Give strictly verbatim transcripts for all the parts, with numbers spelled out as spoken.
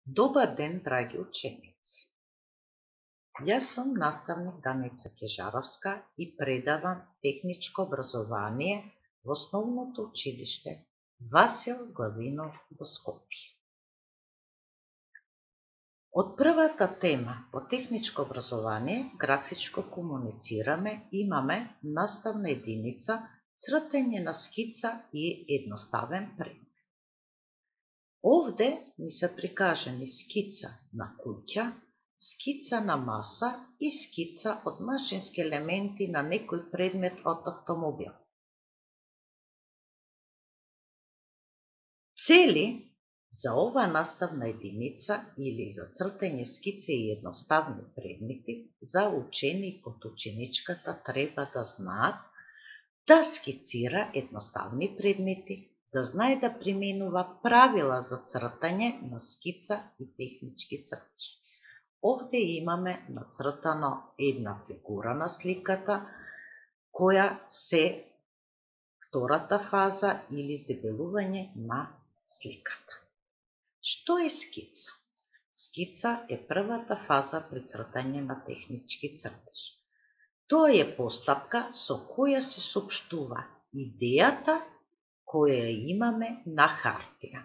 Добар ден, драги ученици! Јас сум наставник Даница Кежаровска и предавам техничко образование во основното училиште Васил Главинов во Скопје. Од првата тема по техничко образование, графичко комуницираме, имаме наставна единица цртање на скица и едноставен предмет. Овде ни се прикажани скица на куќа, скица на маса и скица од машински елементи на некој предмет од автомобил. Цели за ова наставна единица или за цртање скици и едноставни предмети за ученик од ученичката треба да знаат да скицира едноставни предмети, да знае да применува правила за цртање на скица и технички цртеж. Овде имаме нацртано една фигура на сликата, која се втората фаза или издебелување на сликата. Што е скица? Скица е првата фаза при цртање на технички цртеж. Тоа е постапка со која се соопштува идејата која имаме на хартија.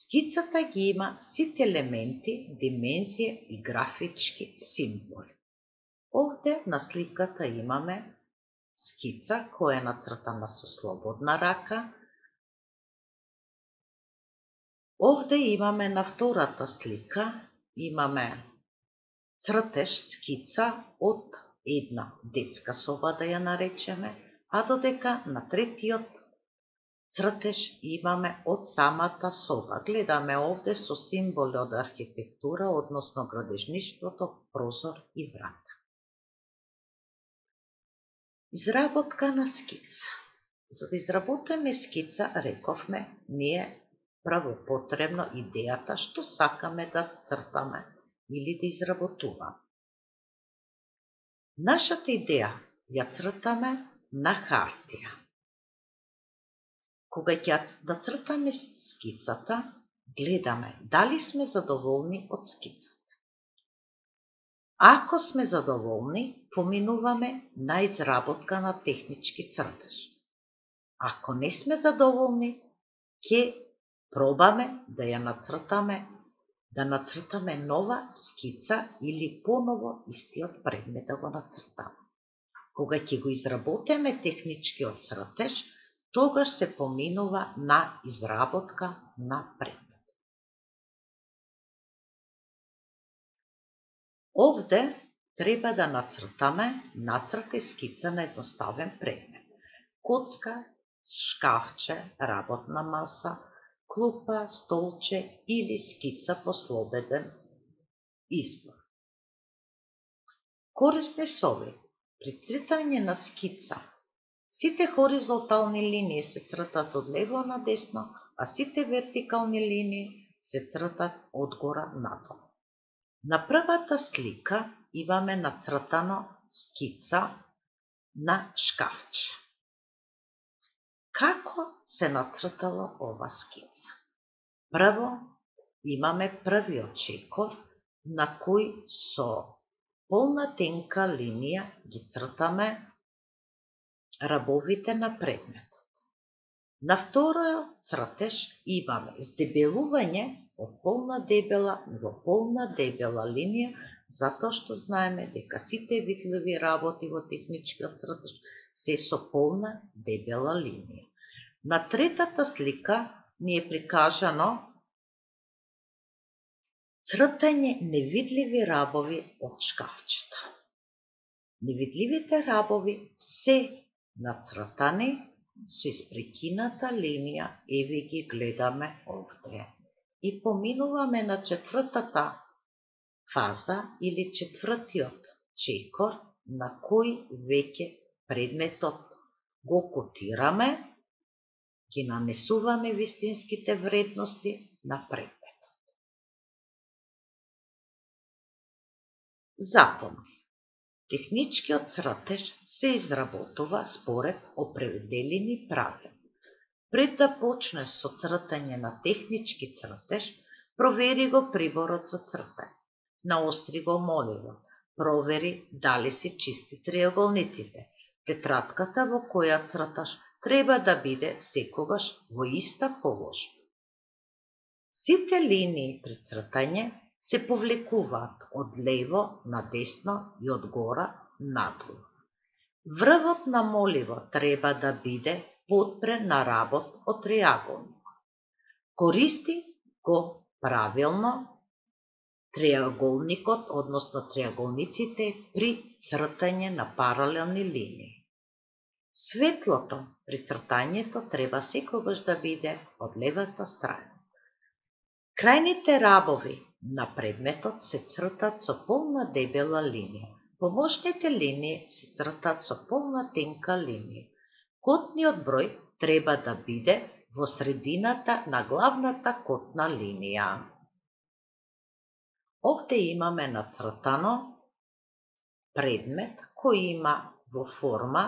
Скицата ги има сите елементи, димензија и графички символи. Овде на сликата имаме скица која е нацртана со слободна рака. Овде имаме на втората слика, имаме цртеж скица од една детска соба, да ја наречеме, а додека на третиот цртеж имаме од самата соба. Гледаме овде со символи од архитектура, односно градежништвото, прозор и врата. Изработка на скица. За да изработиме скица, рековме, ни е прво потребно идејата што сакаме да цртаме или да изработуваме. Нашата идеја ја цртаме на хартија. Кога ќе да цртаме скицата, гледаме дали сме задоволни од скицата. Ако сме задоволни, поминуваме на изработка на технички цртеж. Ако не сме задоволни, ќе пробаме да ја нацртаме, да нацртаме нова скица или поново истиот предмет да го нацртаме. Кога ќе го изработиме техничкиот цртеж, тогаш се поминува на изработка на предмет. Овде треба да нацртаме нацрт и скица на едноставен предмет. Коцка, шкафче, работна маса, клупа, столче или скица по слободен избор. Корисни совети при цртање на скица. Сите хоризонтални линии се цртат од лево на десно, а сите вертикални линии се цртат од гора надолу. На првата слика имаме нацртано скица на шкафче. Како се нацртала ова скица? Прво имаме првиот чекор на кој со полна тенка линија ги цртаме рабовите на предметот. На вториот цртеж имаме издебелување од полна дебела во полна дебела линија, затоа што знаеме дека сите видливи работи во техничкиот цртеж се со полна дебела линија. На третата слика ни е прикажано цртање невидливи рабови од шкафчето. Невидливите рабови се нацртани со испрекината линија, еве ги гледаме овде. И поминуваме на четвртата фаза или четвртиот чекор, на кој веќе предметот го котираме, ги нанесуваме вистинските вредности на предметот. Запомни. Техничкиот цртеж се изработува според определени правила. Пред да почнеш со цртање на технички цртеж, Провери го приборот за цртање. Наостри го моливот. Провери дали се чисти триаголниците. Тетратката во која црташ треба да биде секогаш во иста положба. Сите линии при цртање се повлекуваат од лево на десно и од гора надолу. Врвот на моливот треба да биде подпрен на работ од триаголникот. Користи го правилно триаголникот, односно триаголниците при цртање на паралелни линии. Светлото при цртањето треба секогаш да биде од левата страна. Крајните рабови на предметот се цртат со полна дебела линија. Помошните линии се цртат со полна тенка линија. Котниот број треба да биде во средината на главната котна линија. Овде имаме нацртано предмет кој има во форма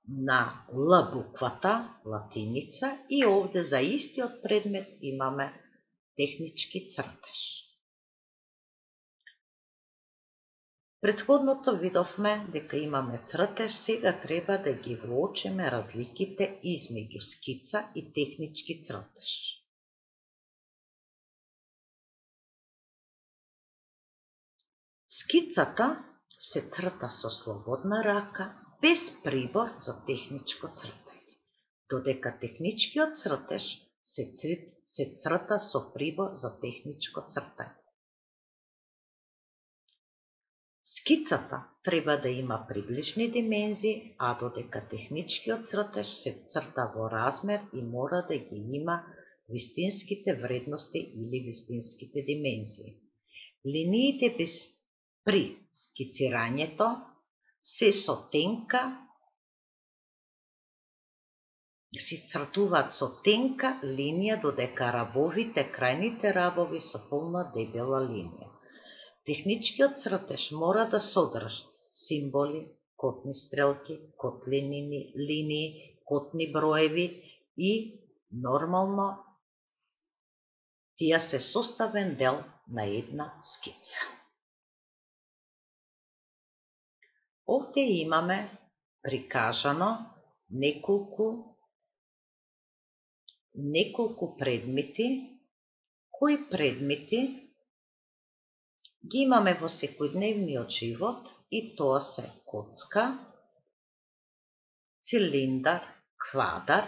на Л буквата, латиница, и овде за истиот предмет имаме технички цртеж. Претходното видовме дека имаме цртеж, сега треба да ги воочиме разликите измеѓу скица и технички цртеж. Скицата се црта со слободна рака, без прибор за техничко цртање, додека техничкиот цртеж се, се црта со прибор за техничко цртање. Скицата треба да има приближни димензии, а додека техничкиот цртеж се црта во размер и мора да ги има вистинските вредности или вистинските димензии. Линиите без при скицирањето се со тенка, се цртуваат со тенка линија, додека рабовите, крајните рабови со полна дебела линија. Техничкиот цртеж мора да содржи символи, котни стрелки, котлини линии, котни броеви и нормално тие се составен дел на една скица. Овде имаме прикажано неколку неколку предмети, кои предмети ги имаме во секојдневниот живот, и тоа се коцка, цилиндар, квадар.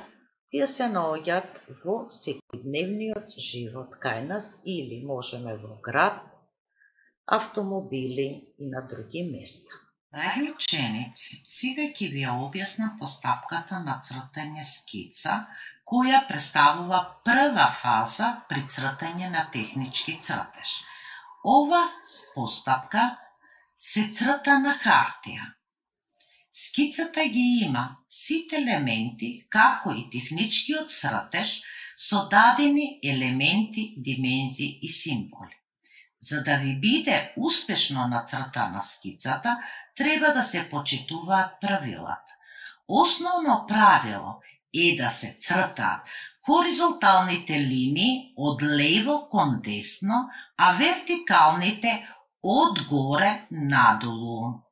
Тие се наоѓаат во секојдневниот живот кај нас или можеме во град, автомобили и на други места. Драги ученици, сега ќе ви ја објаснам постапката на цртање скица, која представува прва фаза при цртање на технички цртеж. Ова постапка се црта на хартија. Скицата ги има сите елементи, како и техничкиот цртеж, со дадени елементи, димензии и символи. За да ви биде успешно нацртана скицата, треба да се почитуваат правилата. Основно правило е да се цртаат хоризонталните линии од лево кон десно, а вертикалните од горе надолу.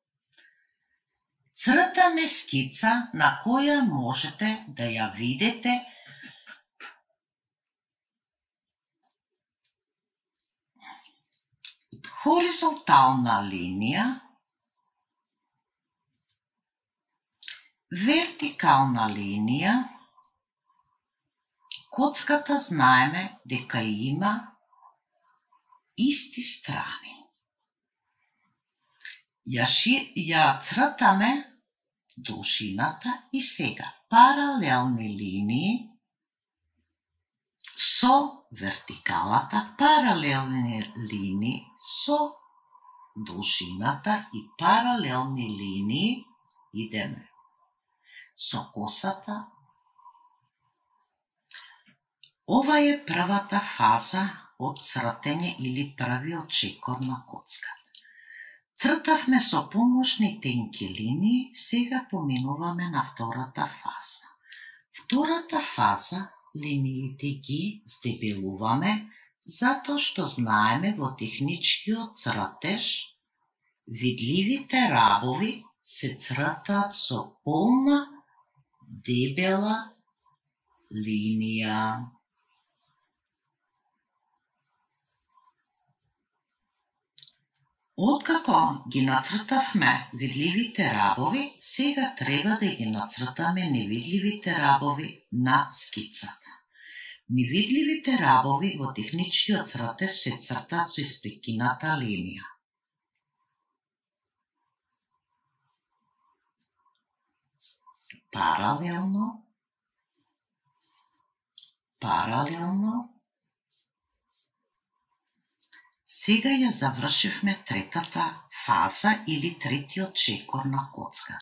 Цртаме скица на која можете да ја видите хоризонтална линија, вертикална линија. Коцката знаеме дека има исти страни. Ја, ши, ја цртаме должината и сега паралелни линии со вертикалата, паралелни линии со должината и паралелни линии идеме со косата. Ова е првата фаза од цртење или првиот чекор на коцката. Цртавме со помошни тенки линии, сега поминуваме на втората фаза. Втората фаза линиите ги здебелуваме Затоа што знаеме во техничкиот цртеж видливите рабови се цртаат со полна дебела линија. Откако ги нацртавме видливите рабови, сега треба да ги нацртаме невидливите рабови на скицата. Невидливите рабови во техничкиот цртеж се цртаат со испрекината линија. Паралелно, паралелно. Сега ја завршивме третата фаза или третиот чекор на коцка.